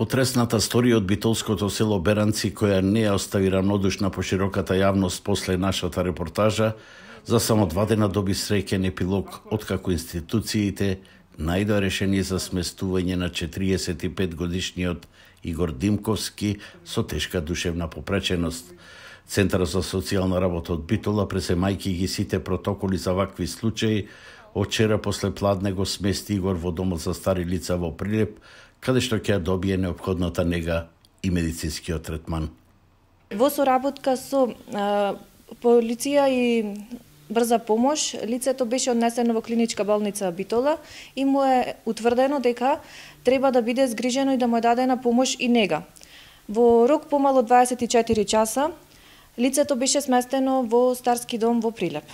Потресната сторија од битолското село Беранци, која не ја остави равнодушна по широката јавност после нашата репортажа, за само 2 дена доби среќен епилог откако институциите најдоа решение за сместување на 45 годишниот Игор Димковски со тешка душевна попреченост. Центарот за социјална работа од Битола, преземајќи ги сите протоколи за вакви случаи, вчера после пладне го смести Игор во домот за стари лица во Прилеп, каде што ќе добие неопходната нега и медицинскиот третман. Во соработка со полиција и брза помош, лицето беше однесено во клиничка болница Битола и му е утврдено дека треба да биде згрижено и да му е дадена помош и нега. Во рок помало 24 часа, лицето беше сместено во старски дом во Прилеп.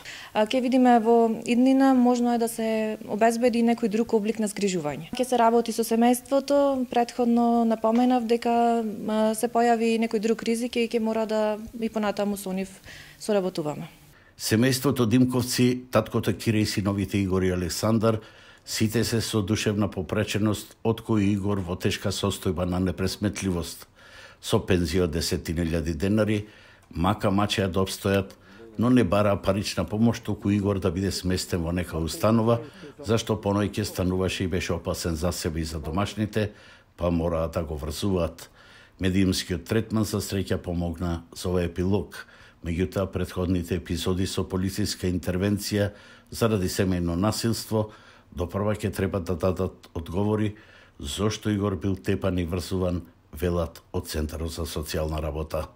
Ке видиме во иднина можно е да се обезбеди некој друг облик на згрижување. Ке се работи со семејството, претходно напоменав дека се појави некој друг ризик и ке мора да и понатаму со нив соработуваме. Семејството Димковци, таткото Кире и синовите Игор и Александар, сите се со душевна попреченост, од кој Игор во тешка состојба на непресметливост. Со пензија од 10.000 денари, мака мачеа да обстојат, но не бара парична помош, туку Игор да биде сместен во нека установа, зашто понојќе стануваше и беше опасен за себе и за домашните, па мораа да го врзуваат. Медиумскиот третман за среќа помогна за овој епилог. Меѓутоа, претходните епизоди со полициска интервенција заради семејно насилство допрва ќе треба да дадат одговори зошто Игор бил тепан и врзуван, велат од Центарот за социјална работа.